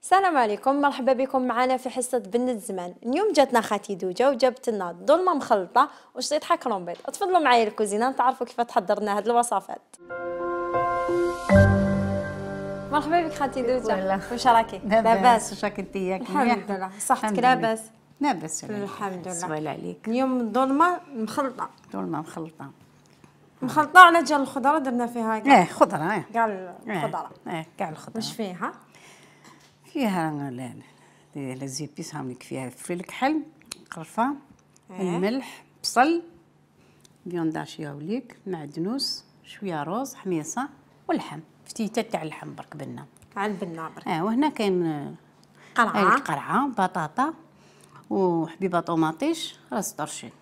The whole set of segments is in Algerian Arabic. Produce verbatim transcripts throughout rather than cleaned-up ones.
السلام عليكم، مرحبا بكم معنا في حصة بنت الزمان. اليوم جاتنا خالتي دوجة وجابت لنا ظلمة مخلطة وشطيحة كرومبيط. تفضلوا معايا الكوزينة نتعرفوا كيف تحضر لنا هاد الوصفات. مرحبا بك خالتي دوجة، واش راكي؟ لاباس؟ واش راكي انتيا؟ الحمد لله، صحتك لاباس؟ لاباس الحمد لله. سوال عليك. اليوم ظلمة مخلطة. ظلمة مخلطة مخلطة على جال الخضرة درنا فيها كاع. اه خضرة اه كاع الخضرة. اه كاع الخضرة. واش فيها؟ فيها لا زيبيس هاملك فيها فلفل الكحل، قرفة، اه. الملح، بصل، بيونداشي هاوليك، معدنوس، شوية روز، حميصة واللحم، فتيتة تاع اللحم برك بنا. على البنة برك. اه وهنا كاين قرعة. قرعة، بطاطا وحبيبة طوماطيش، راس طرشين،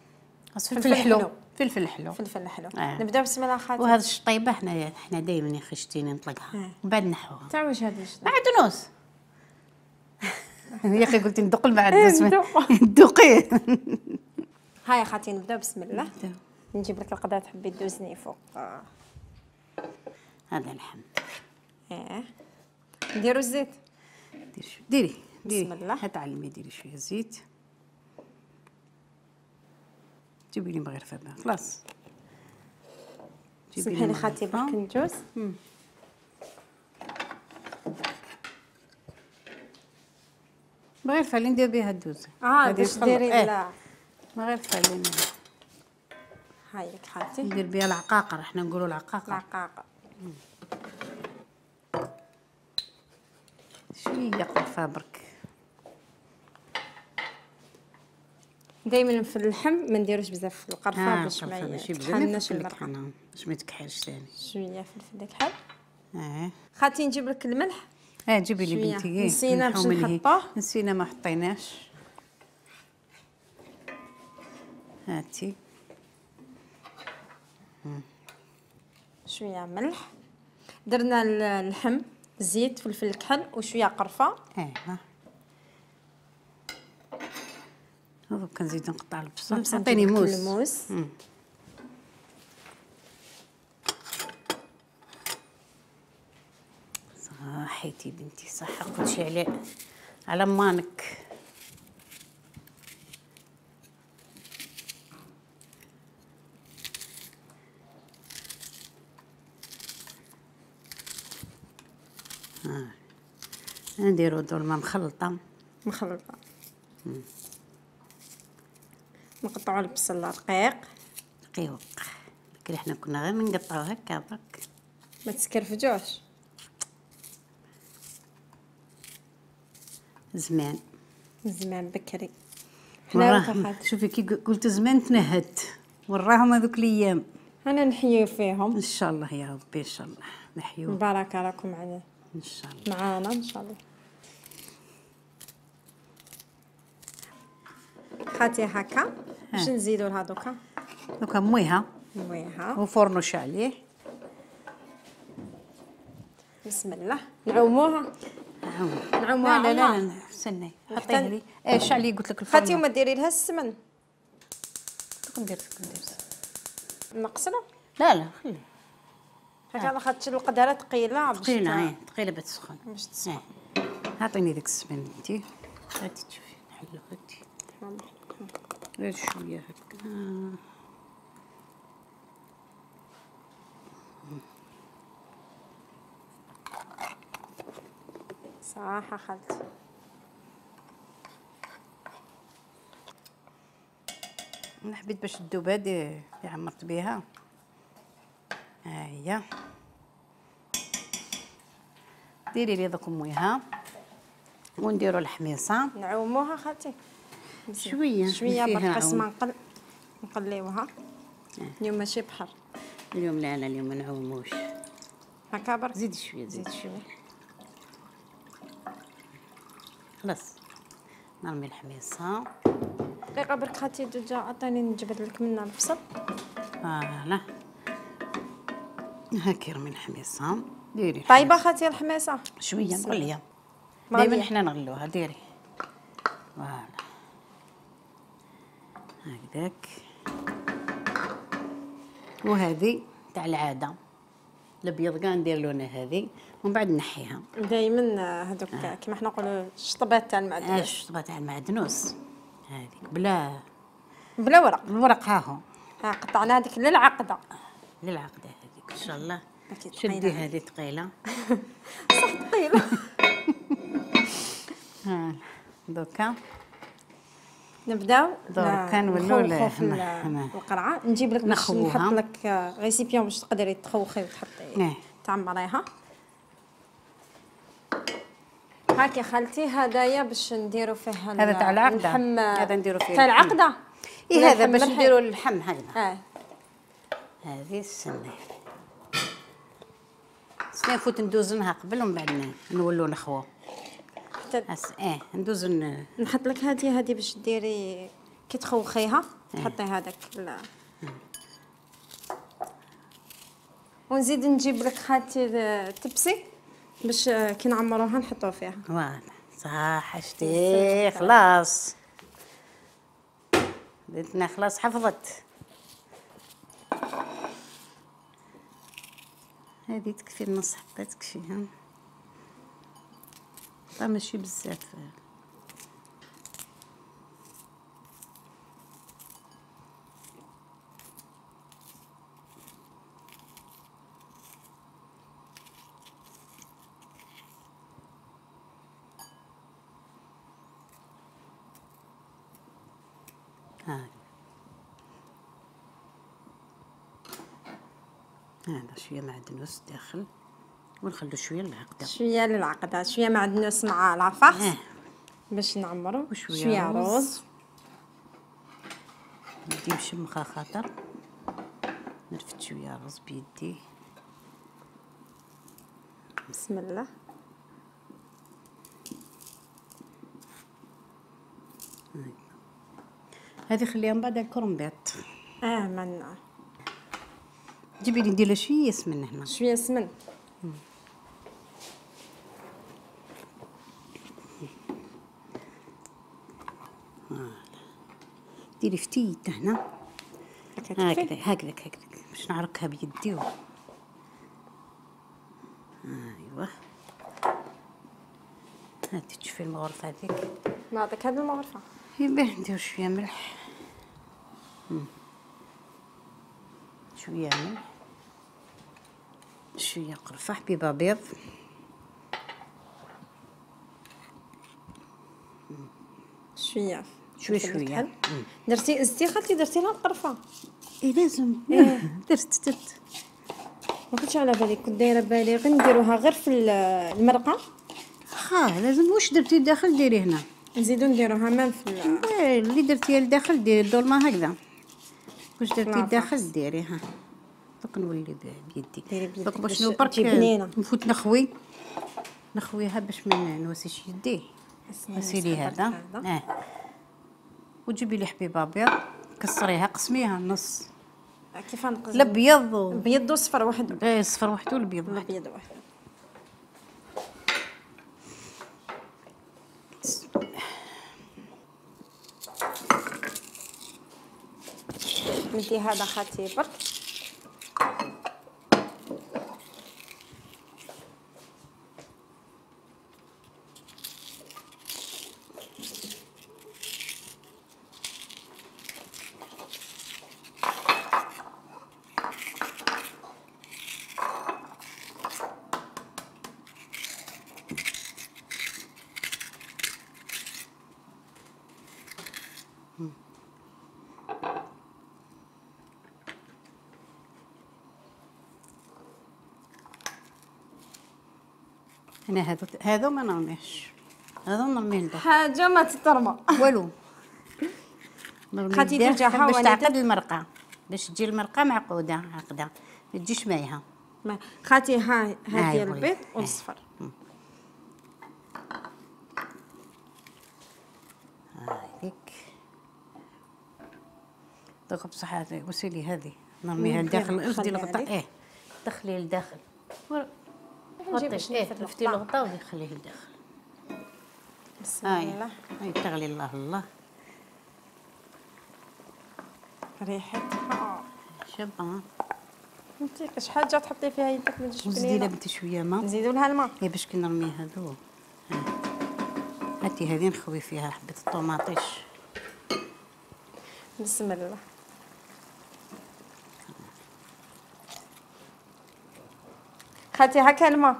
راس فلفل فلفل حلو. حلو، فلفل حلو، فلفل حلو. آه. نبداو بسم الله خالتي. وهذا الشطيبه حنا حنا دائما يا خشتيني نطلقها آه. ومن بعد نحوها. تاع واش هذا الشطيب؟ معدنوس. يا اخي قلت ندق المعدنوس. ندوق. ندوقيه. هاي خالتي نبداو بسم الله. نجيب لك القدره تحبي تدوزني فوق. آه. هذا اللحم. اه. نديرو الزيت. ديري شويه ديري ديري بسم الله. تعلمي ديري شويه زيت. جيبي لي مغرفه بها خلاص. سمحي لي خالتي برك ندوز. مغرفه اللي ندير بها الدوز. اه باش ديري لا مغرفه اللي ندير. هاي لك خالتي. ندير بها العقاقر، احنا نقولوا العقاقر. العقاقر. شويه قرفه برك. دائما في اللحم ما نديروش بزاف القرفه باش ما يتحنش المرقه، باش ما يتكحلش ثاني. شويه فلفل الكحل. اه خالتي نجيب لك الملح. اه جيبي لي بنتي. نسينا باش نحطوه. نسينا ما حطيناش. هاتي شويه ملح. درنا اللحم، زيت، فلفل الكحل وشويه قرفه. ايوا دوك كنزيد نقطع البصل. عطيني موس. الموس. صحيتي بنتي صح، كلشي على على مانك. ها نديرو ظلمه مخلطه. مخلطه. نقطعوا البصل رقيق. رقيق. لكن احنا كنا غير نقطعو هكا برك. ما تسكرفجوش. زمان زمان بكري. حنا شوفي كي قلت زمان تنهدت وراهم هذوك الايام. انا نحيو فيهم ان شاء الله يا ربي، ان شاء الله نحيو. بارك راكم معنا ان شاء الله معانا ان شاء الله. خاتي هكا باش نزيدو لها دوكا. دوكا مويها مويها وفرنو شعليه. بسم الله نعوموها. نعوموها. لا لا لا استني حطيها لي. ايه شعليه قلت لك الفرن. خاتي وما ديري لها السمن. ندير ندير نقصنا. لا لا خلي هكا خاطش القدره ثقيله. ثقيله ايه ثقيله باش تسخن. باش تسخن. عطيني ديك السمن انتي. هاتي تشوفي نحلو. هاتي غير شويه هكا. صراحه خالتي انا حبيت باش تذوب هادي اللي عمرت بها. ها هي ديري لي دوك مويها ونديروا الحميصه. نعوموها خالتي شويه شويه برك قسمه نقل نقليوها. اليوم ماشي بحر. اليوم لا لا اليوم ما نعوموش هكا برك. زيدي شويه زيدي شويه خلاص. نرمي الحميصه. دقيقه برك خالتي دوجا عطيني نجبد لك منها البصل. فوالا هاكي رمي الحميصه. ديري طيبه خالتي الحميصه شويه مغليه. دائما حنا نغلوها. ديري فوالا هكذاك. وهذه تاع العاده الابيض كاع ندير لونه هذه ومن بعد نحيها. دائما هذوك كيما حنا نقولوا الشطبات تاع المعدنوس. اه الشطبه تاع المعدنوس هذيك بلا بلا ورق. الورق ها هو. ها قطعنا هذيك للعقده. للعقده هذيك ان شاء الله. أكيد شدي ثقيلة. هذه ثقيله. صح ثقيله. ها دوكا نبداو دركا نولوا نخوخو في ل- القرعه. نجيب لك باش نخوها. نحط لك ريسيبيون باش تقدري تخوخي وتحطي اه. تعمريها. هاك يا خالتي هدايا باش نديرو فيه هذا تاع العقدة. اللحم. هذا نديرو فيه تاع اللحم. العقده. اي ولا هذا اللحم باش مرحي؟ نديرو اللحم هكذا. اه هذه السنه سنة نفوت ندوزنها قبل ومن بعد نولو نخوو. حتى هس اه ندوز ن- نحط لك هذه هذه باش ديري كي تخوخيها تحطي هذاك ال- ونزيد نجيب لك خالتي التبسي باش كي نعمروها نحطوه فيها. فوالا صح شتي خلاص بديتنا خلاص حفظت. هذه تكفي النص حطيتك شيها طا ماشي بزاف. هاي هذا شويه معدنوس داخل ونخلو شويه للعقده. شويه للعقده شويه معدنوس مع العفاخ اه باش نعمرو وشوية شويه رز. روز. ندي مشمخه خاطر نرفد شويه رز بيدي. بسم الله. هذه خليها من بعد الكرنبيط. اه من جيبي لي ندير لها شويه سمن هنا. شويه سمن. ديري فتيت هنا هكذا هكذا هكذا هكذا باش نعركها بيدي و... ايوا هاتي تشوفي المغرفه هذيك. نعطيك هذه المغرفه. يباه ندير شويه ملح. مم. شويه ملح شويه قرفه حبيبه بيض. شويه شويه فلفل شويه. كحل. درتي زدتي خالتي درتي لها القرفه. اي لازم درت درت ما كنتش على بالي كنت دايره بالي غير نديروها غير في ال- المرقه. ها لازم واش درتي داخل ديري هنا. نزيدو نديروها مام في ال- إيه، اللي درتيها لداخل ديري الدولمه هكذا. واش درتي لا، لداخل ديريها. دوك نولي ب- بيدي. ديري بيدك دوك باش باش نو برك تجي بنينة. نفوت نخوي نخويها باش ما نوسيش يديه. غسيلي هذا هذا. اه وتجيبي لي حبيبه بيض كسريها قسميها نص كيف نقص الابيض و... بيض وصفر وحده. ايه الصفر وحده والابيض وحده. الابيض وحده. ندي هذا خالتي برك. انا هذا هذا ما نرميهش هذا نرميه لداخل حاجه ما تترمى. والو. نرميه خالتي لداخل ترجعها باش ولا تعقد تد- المرقه باش تجي المرقه معقوده عقده ما تجيش مايها. ما- خالتي ها هاي هذه بغيت. البيض هاي. والصفر. هذيك دوك بصح هذه وسيلي هذه نرميها ممكن لداخل اخدي نخليها الغطاء لك. ايه دخلي لداخل نجيب غطي باش ايه نفرد لفتي الغطاء. الغطاء وخليه لداخل. بسم هاي الله. هاي تغلي الله الله ريحتها شابه. فهمتي شحال جا تحطي فيها يدك ما تجيش وزيدي لها بنينه. بنتي شويه ما نزيدوا لها الماء. هي باش كي نرمي هذو. هاتي هذه نخوي فيها حبه الطوماطيش. بسم الله. خالتي هكا الماء.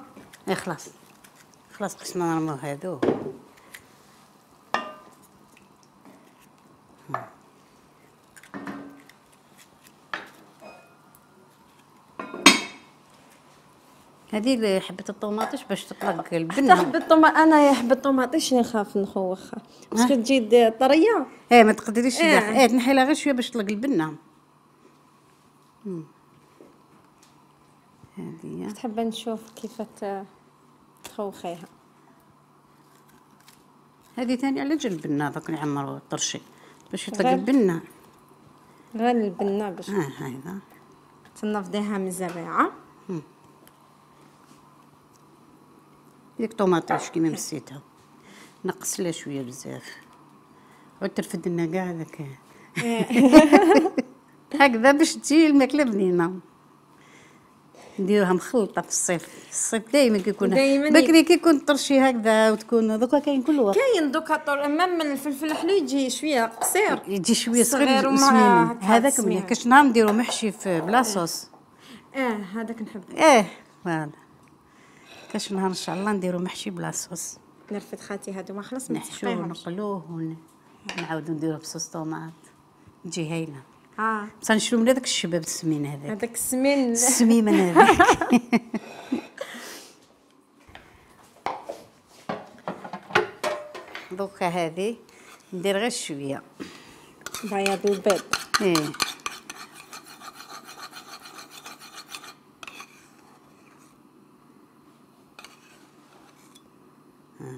اي خلاص خلاص قسنا نرميو هذو. هذه حبه الطوماطيش باش تطلق حتى البنه. حبة الطوماط انا يا حبة الطوماطيش نخاف نخوخها باسكو تجي طريه. ايه ما تقدريش إيه. تدخل. ايه تنحي لها غير شويه باش تطلق البنه. مم. هذه تحب نشوف كيف ت- تخوخيها. هذه ثاني على جال البنه دوك نعمروا الطرشي باش يطلق غير- البنه. غير البنه باش اه هذا تنفضيها من الزريعه. ديك طوماطيش كيما مسيتها نقص لها شويه بزاف عود ترفد لنا كاع هذاك هكذا باش تجي الماكله بنينه. نديروها مخلطه في الصيف. الصيف دائما كيكون دايماً بكري كيكون طرشي هكذا وتكون دوكا كاين كل وقت. كاين دوكا طول امام من الفلفل الحلو يجي شويه قصير يجي شويه صغير صغير ومع وسمين. هكا هذاك سمين. مليح كاش نهار نديرو محشي في بلا صوص. اه هذاك نحب ايه فوالا كاش نهار ان شاء الله نديرو محشي بلا صوص. نرفد خالتي هادو ما خلص نحشوه نسقيهمش. ونقلوه ونعاودو نديروه بصوص طوماط تجي هايله. اه بصح نشرو من هذاك الشباب السمين هذاك هذاك السمين السميمه هذاك. دوكا هذه ندير غير شويه بياض البيض. ايه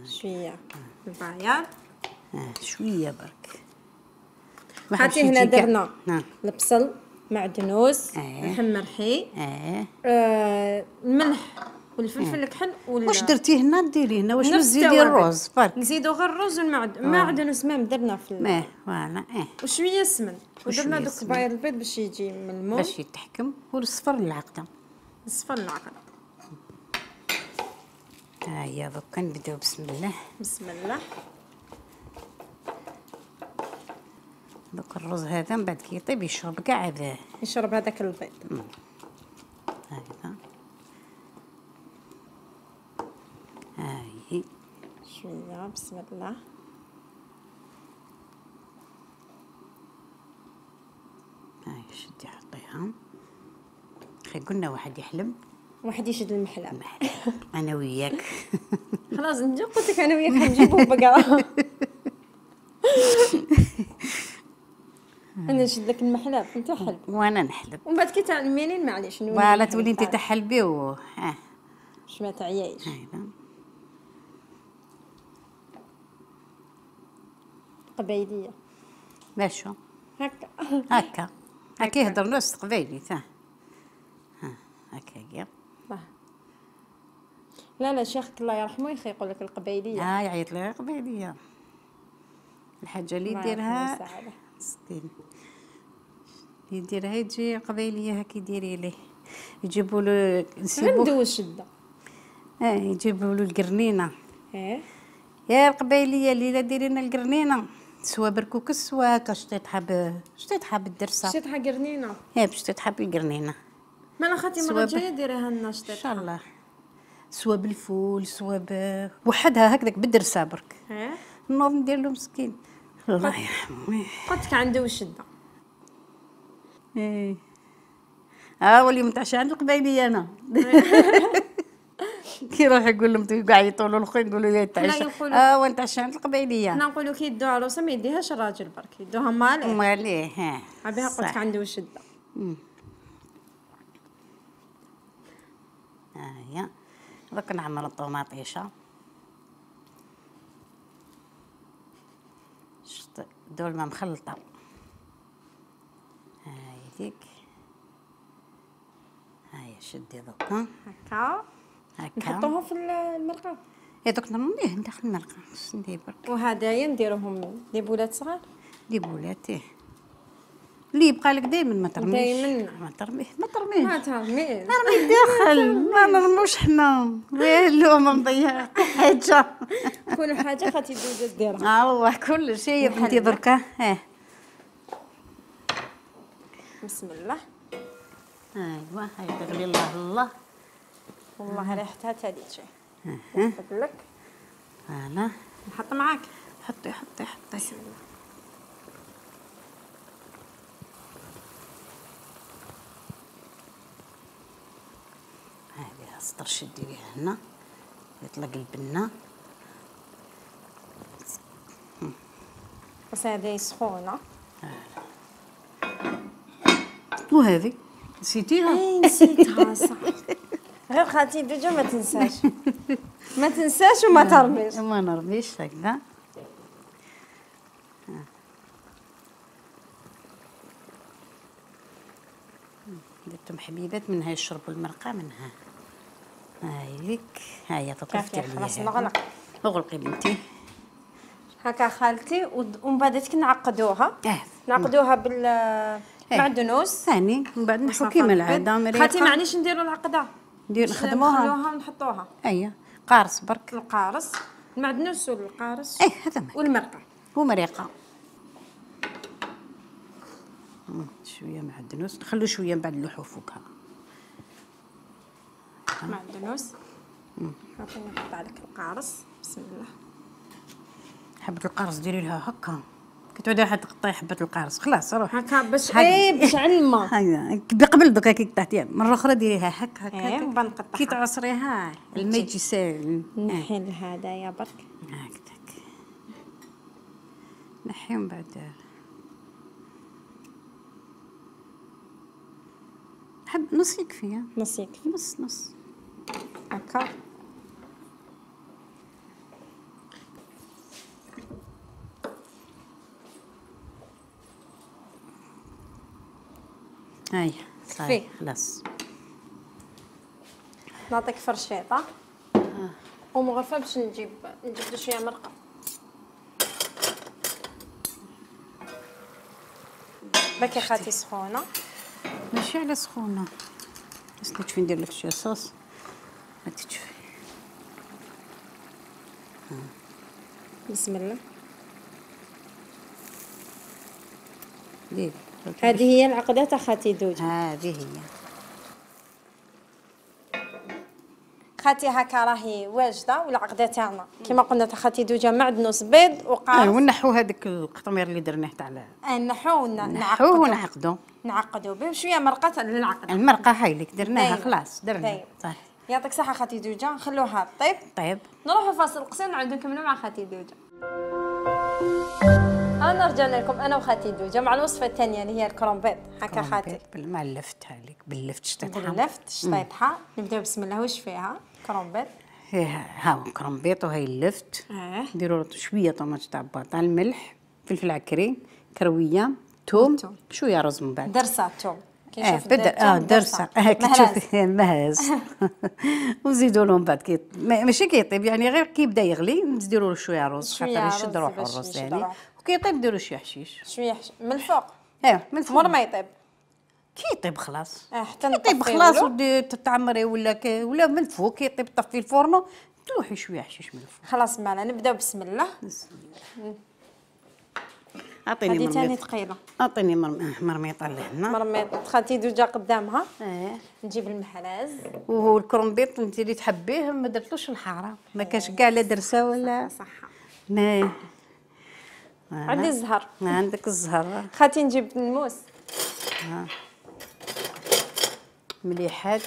شويه البياض. اه شويه برك. هاتي هنا درنا نعم. البصل معدنوس آه. محمرحي اه آه الملح والفلفل الكحل وال واش درتي هنا ديري هنا واش نفس نزيدي التوابل. الرز برك. نزيدو غير الرز والمعدن معدنوس مام درنا في ال- اه فوالا اه وشويه سمن ودرنا وشوية دوك سمن. بياض البيض باش يجي ملموم باش يتحكم والصفر العقده. صفر العقل. ها هي دوكا نبداو بسم الله. بسم الله. دوك الرز هذا من بعد كي يطيب يشرب كاع هذا يشرب هذاك البيض. هكذا. هاي شويه بسم الله. هاي شدي حطيها. خي قلنا واحد يحلم واحد يشد المحلاب. انا وياك. خلاص نجي قلت لك انا وياك نجيبو بقره. انا نشد لك المحلاب انت حلب وانا نحلب ومن بعد كي تعلميني معليش نولي فوالا نحلب تولي انت بعد. تحلبي و اه باش ما تعيايش. هايدا قبايليه باشو هكا. هكا هكا يهضر ناس قبايلي تا ها هكا هي. باه. لا لا شيخك الله يرحمه يخي يقول لك القبايليه. ها يعيط لها قبايليه الحاجه اللي الله يرحمه يديرها ويسعده. ستين يديرها يجي قبايليه هكا يديري ليه يجيبوا له نسيبوه عنده الشده. اه يجيبوا له القرنينه. ايه يا القبايليه الليله ديري لنا القرنينه سوا بركوك سوا كاش تحب شتي تحب الدرسه شتي تحا قرنينه. يا باش تحب القرنينه ما انا خاطي سوا المره ب- الجايه ديريها لنا ان شتي. شاء الله سوا بالفول سوا ب وحدها هكذاك بالدرسه برك ايه نوض ندير له مسكين الله يرحمه. قلت لك عنده الشده. ايه ها هو اللي متعشى عند القبايليه انا. كي يروح يقول لهم كاع يطولوا الاخرين يقولوا يا تعشى يقولوا- اه وانت عشى عند القبايليه حنا نقولوا كي يدو عروسه ما يديهاش الراجل برك يدوها ماليه. امال ليه ها عبيها قلت لك صح. عنده الشده. ها هي دوك نعمر الطوماطيشه شت دول ما مخلطه هاي ديك هاي شدي دوكا هكا هكا نحطوهم في المرقه. يا دوك نرميه ندخل المرقه خص ندير برك وهدايا نديروهم دي بولات صغار. دي بولاتيه اللي يبقى لك دائما ما ترميش. دايماً. ما ترميه ما ترميش. ما ترميش. نرمي داخل ما نرموش حنا والو ما نضيع حاجه. كل حاجه خاطي دوجه ديرها. اه والله كل شيء يا بنتي دركا. اه بسم الله. ايوا هاي تغلي الله الله. والله ريحتها تالي شيء. نحط لك. انا نحط معاك. حطي حطي حطي. بسم الله. هذه السطرش ديريها هنا يطلق البنه. بس هذه سخونه. وهذه نسيتيها؟ اي نسيتها صح. غير خالتي دوجه ما تنساش. ما تنساش وما ترميش. ما نرميش هكذا. درتهم حبيبات منها يشربوا المرقه منها. هاي لك هاي تطفت عليها. خلاص نغلق. اغلقي بنتي. هكا خالتي ومن بعد كي نعقدوها. اه نعقدوها بالمعدنوس. ثاني من بعد نحو كيما العاده مريقه. خالتي معليش نديروا العقده. ندير نخدموها. نخلوها ونحطوها. اييه قارص برك. القارص المعدنوس والقارص. اي هذا ما والمرقه. ومريقه. شويه معدنوس نخلو شويه من بعد نلوحو فوقها. معدنوس. هاكا نحط عليك القارص. بسم الله. حبة القارص ديري لها هكا كي تعودي حد تقطعي حبة القارص خلاص روح هكا باش ايه باش على الماء. هكا قبل دوكا كي قطعتيها مرة أخرى ديريها هكا هكا ايه وبعد نقطعها كي تعصريها الماء يجي ساهل. نحي هذايا برك هكذاك نحي من بعد حب نص يكفي. نص يكفي. نص نص هكا. هاي كفي. خلاص. نعطيك فرشيطه ومغرفه باش نجيب نجيب شويه مرقه. باكي خالتي سخونه. ماشي على سخونه بس تشوفي ندير لك شويه صوص هاتي تشوفي. بسم الله. ديري هذه هي العقده تاع خالتي دوجه. هذه هي خالتي هكا راهي واجده والعقده تاعنا كما قلنا تاع خالتي دوجه معدنوس بيض وقارص. اه ونحو هذاك القطمير اللي درناه تاع نحو نحوه ونعقدو نعقدو به شويه مرقه للعقد. المرقه هاي لك درناها خلاص درناها. طيب يعطيك الصحه خالتي دوجه نخلوها طيب. طيب نروحوا فاصل قصير نعاودو نكملوا مع خالتي دوجه. انا رجعنا لكم انا وخالتي دوجه مع الوصفه الثانيه اللي هي الكرومبيط. هكا خالتي مع اللفت هذيك باللفت شطيطها باللفت شطيطها. نبداو بسم الله. واش فيها كرومبيط؟ ها كرومبيط وهي اللفت. اه نديروا شويه طماط تاع بطاطا الملح فلفل عكري كرويه ثوم شويه رز من بعد درسه ثوم. اه بدا اه درسه اه كي تشوفي مهز وزيدوا لهم بعد كي ماشي كيطيب يعني غير كي يبدا يغلي نديروا له شويه رز خاطر يشد روحو الرز يعني وكي يطيب ديروا شويه حشيش شويه حش... من الفوق. اه من الفوق مور ما يطيب كي يطيب خلاص. اه حتى يطيب خلاص ودي تتعمري ولا ك... ولا من الفوق كي يطيب طفي الفرن تلوحي شويه حشيش من الفوق. خلاص معنا نبداو بسم الله. بسم الله. اعطيني مرميط. هذه ثاني ثقيله. اعطيني مرميطه لهنا. مرميط خالتي دوجه قدامها. اه نجيب المحراز وهو الكرومبيط انت اللي تحبيه ما درتلوش الحاره ما كاش كاع لا درسه ولا صح. ما عندي الزهر. عندك الزهر. خالتي نجيب الموس. ها مليحات.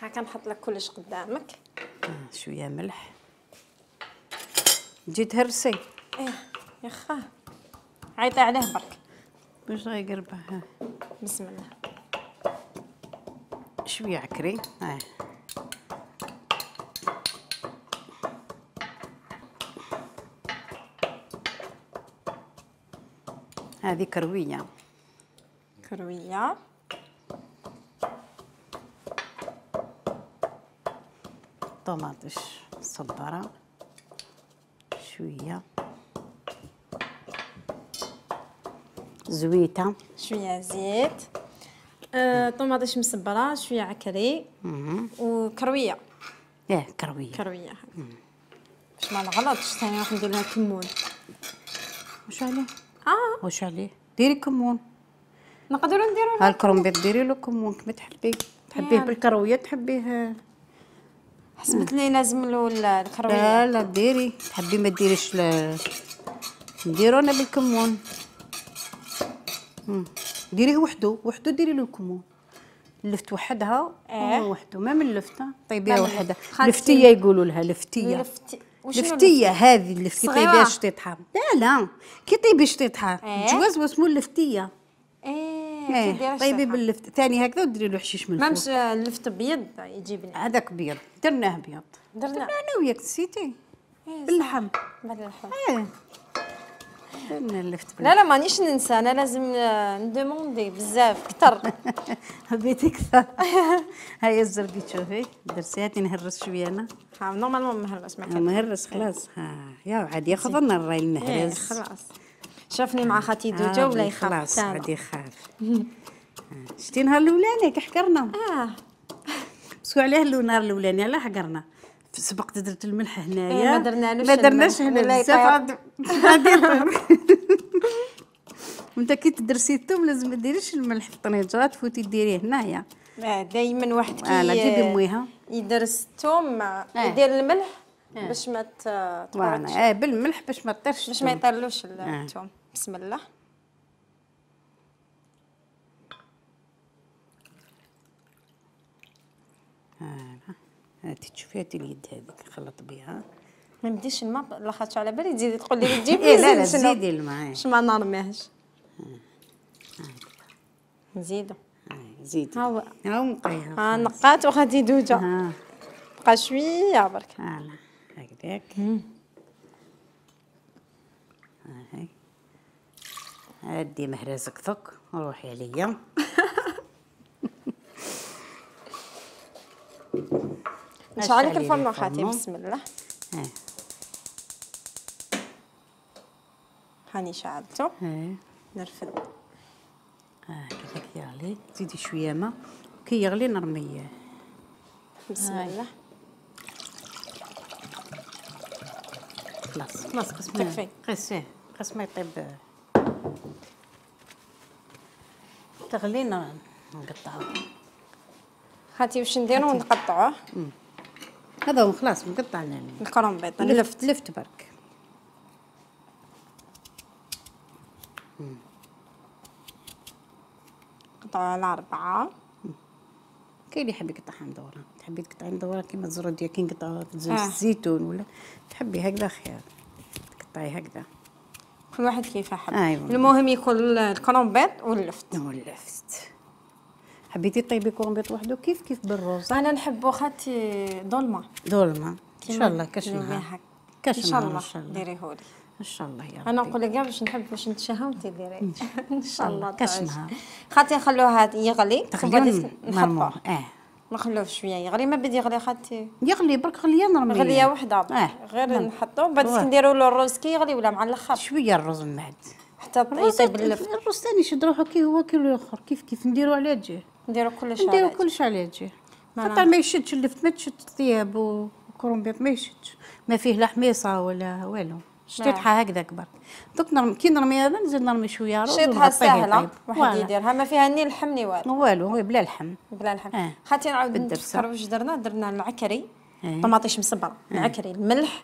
هاكا نحط لك كلش قدامك. آه شويه ملح. تجي تهرسي. ايه يا خا عيطي عليه برك باش غيقربه. بسم الله. شويه عكري. ها هذه كرويه. كرويه. طماطش صباره شويه زويته. شويه زيت، آه، طوماطيش مسبره، شويه عكري وكرويه. اه كرويه كرويه باش ما نغلطش. ثاني راح ندير لها كمون. واش عليه؟ اه واش عليه؟ ديري كمون. نقدروا نديروا ها الكرومبيط ديري له كمون كما تحبي. تحبيه يعني. بالكرويه تحبيه. حسبت لي لازم له الكرويه. لا لا ديري، تحبي ما ديريش ل... نديرو انا بالكمون. مم. ديريه وحده وحده، ديري له الكمون. اللفت وحدها اه وحده، ما من اللفته طيبيها ما من وحدها. خالتي. لفتيه يقولوا لها لفتيه. لفتي وشنو لفتيه هذه اللي كي صغيرة؟ طيبيها شطيطها. لا لا كي طيبي شطيطها اه الجواز واسمو اللفتيه. ايه ايه كدير طيبي باللفت ثاني هكذا وديري له حشيش من ما الفوق. مش اللفت ابيض يجيب لي. هذاك بيض درناه بيض. درنا درنا انا وياك نسيتي. إيه باللحم. باللحم. ايه درنا اللفت باللحم. لا لا مانيش ننسى، انا لازم ندوموندي بزاف كثر. حبيتي كثر. هاي الزرقي تشوفي درسي هاتي نهرس شويه انا. ها نورمالمون مهرس ما ها كان مهرس خلاص. ها يا عاد ياخذ لنا الراي إيه المهرس. خلاص. شافني مع خالتي دوجه ولا يخاف خلاص حتى عاد يخاف. شتي نهار الاولاني كي حكرنا. اه بسكو عليه النهار الاولاني علاه حكرنا. سبقت درت الملح هنايا. إيه ما درنالوش ما درناش الملح هنا ولا بزاف يطير. عاد عاد يطير. وانت كي تدرسي الثوم لازم ما ديريش الملح في الطنجره، تفوتي ديريه هنايا. دائما واحد كي فوالا جيبي مويها. يدرس الثوم يدير الملح باش ما تطيرش، فوالا اه بالملح باش ما تطيرش. باش ما يطيرلوش الثوم. بسم الله. هانا هاتي تشوفي هاتي اليد هذيك نخلط بها. ما نديش الماء لاخاطش على بالي تزيدي تقول لي تجيب إيه لي لا لا زيت. زيدي الماء. باش ما نرميهش. نزيدو. زيدي. ها هو ها نقيها. ها نقات وغادي دوجه. ها بقى شويه برك. فوالا هكذاك. هاي هادي مهرزك ثك وروحي عليا. نشعلك الفرن خاتي. بسم الله. ها هاني شعلته. ها نرفد. ها كذاك يغلي. زيدي شويه ما كي يغلي نرميه. بسم الله. خلاص خلاص قسم تكفي. قسيه قسم ما يطيب. تغلينا نقطعوه. خاتي واش نديرو نقطعوه. هذا هو خلاص مقطع لنا الكرومبيط لفت لفت برك. قطعوه على أربعة. كاين اللي يحب يقطعها مدوره، تحبي تقطعي مدوره كيما الزروديه كي نقطعوها في زيت آه. الزيتون ولا تحبي هكذا خير تقطعي هكذا. كل واحد كيف حب. أيوة. المهم يكون الكرومبيط واللفت. واللفت. حبيتي طيبي كرومبيط وحده كيف كيف بالروز؟ انا نحبو خاتي ظلمه. ظلمه ان شاء الله كاش كيما نهار هكا. كاش ان شاء نهار الله ان شاء الله ديريهولي. ان شاء الله يا ربي. انا نقول لك كاع باش نحب باش نتشهى وانت ديري. ان شاء الله كاش تعيش. نهار. خاتي نخلوها يغلي تقريبا مرموح. اه نخلوه شويه يغلي. ما بدي يغلي خاتي يغلي برك غليه نرميه. غليه وحده آه. غير نحطوه بعد نديروا له الروز كي يغلي ولا مع الاخر شويه الرز من بعد حتى يطيب اللفت. الرز ثاني يشد روحو كي هو كي الاخر كيف كيف نديرو على جهه. نديرو كلش نديرو على كلش على جهه. ما خاطر ما يشدش اللفت، ما تشد الثياب وكرومبيط ما يشدش، ما فيه لا حميصه ولا والو. شطيحه هكذاك برك. دوك نرمي كي نرمي هذا نزيد نرمي شويه روز. شطيحه سهله طيب. واحد يديرها ما فيها ني لحم ني والو. والو هو بلا لحم. بلا لحم. آه. خاطي نعاود بالدرسة. نفكر واش درنا. درنا العكري آه. طماطيش مسبره. آه. العكري الملح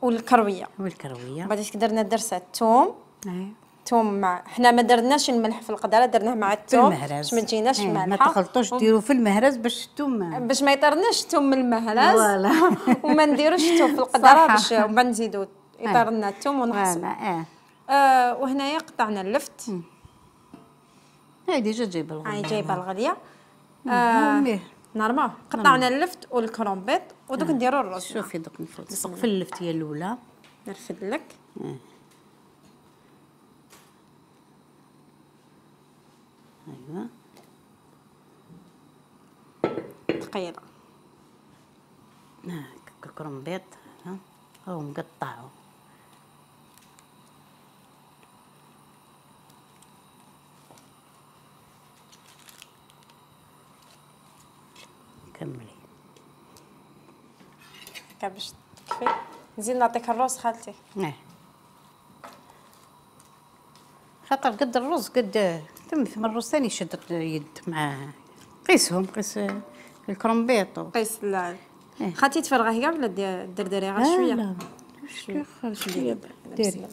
والكرويه. والكرويه. بعد درنا درسه الثوم. اي ثوم مع حنا ما درناش الملح في القدره درناه مع في الثوم المهرز باش ما تجيناش ايه مالحه. ما تخلطوش ديروا في المهرز باش الثوم باش ما يطرناش الثوم من المهرز. فوالا. وما نديروش الثوم في القدره صح. باش وما نزيدو يطير لنا الثوم ونحصو. اه آه وهنايا قطعنا اللفت. هاي ديجا جايبه الغليه. هاي جايبه الغليه. آه. نورمال قطعنا اللفت والكرومبيط ودوك نديرو الرز. شوفي دوك نلصق في اللفتيه الاولى. نرفد لك. آه. ايوا ثقيله. هاك الكرومبيط ها هو مقطعو. كملي. هكا باش تكفي. نزيد نعطيك الروز خالتي. اه خاطر قد الرز قد ثم ثم الرز ثاني يشد يد معاه. قيسهم قيس الكرومبيط. قيس لا خالتي تفرغيه كاع ولا ديري غير شويه؟ لا شويه شويه ديري.